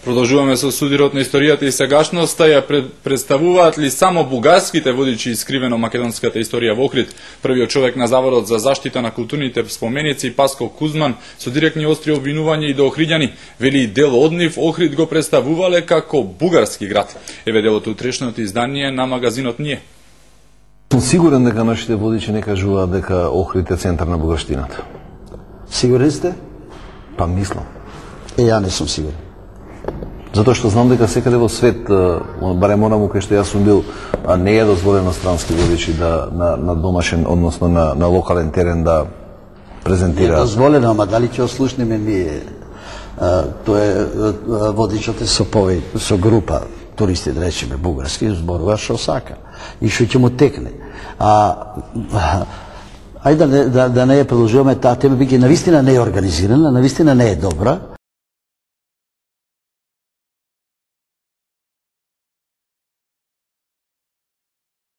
Продолжуваме со судирот на историјата и сегашноста. Ја представуваат ли само бугарските водичи искривено македонската историја во Охрид? Првиот човек на Заводот за заштита на културните споменици Паско Кузман со директни остри обвинувања и до охриѓани вели дел од нив Охрид го представувале како бугарски град. Еве делот утрешното издание на магазинот Ние. Сум сигурен дека нашите водичи не кажуваат дека Охрид е центар на бугарштината. Сигурен сте? Па мислам. Ја не сум сигурен. Затоа што знам дека секаде во свет, барем онаму кај што јас сум бил, не е дозволено странски водичи да на домашен, односно на локален терен да презентираат. Не е дозволено, ама дали ќе ослушнеме ние? Тоа е водичот е со група туристи, да речеме бугарски, зборува што сака и што ќе му текне. Ајде да не ја продолжуваме, таа тема биќе навистина не е организирана, навистина не е добра.